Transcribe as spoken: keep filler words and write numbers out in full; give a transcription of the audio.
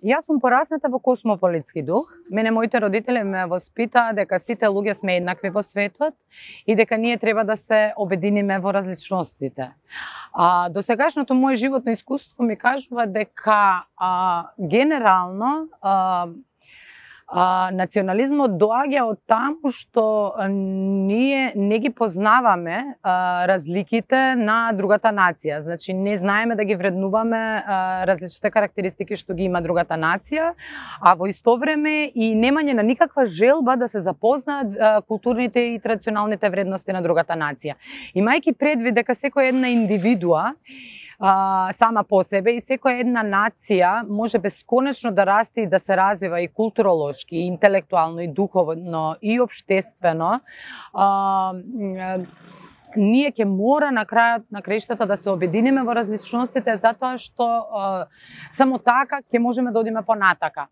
Јас сум порасната во космополитски дух. Мене моите родители ме воспитаа дека сите луѓе сме еднакви во светот и дека ние треба да се обединиме во различностите. А, досегашното моје животно искуство ми кажува дека а, генерално а, А, национализмот доаѓа од таму што ние не ги познаваме а, разликите на другата нација. Значи, не знаеме да ги вреднуваме а, различните карактеристики што ги има другата нација, а во исто време и немање на никаква желба да се запознаат а, културните и традиционалните вредности на другата нација. Имајќи предвид дека секоја една индивидуа а, сама по себе и секоја една нација може бесконечно да расте и да се развива и културолошки, и интелектуално, и духовно, и општествено, а, ние ќе мора на крајот на краиштата да се обединиме во различностите, затоа што а, само така ќе можеме да одиме понатака.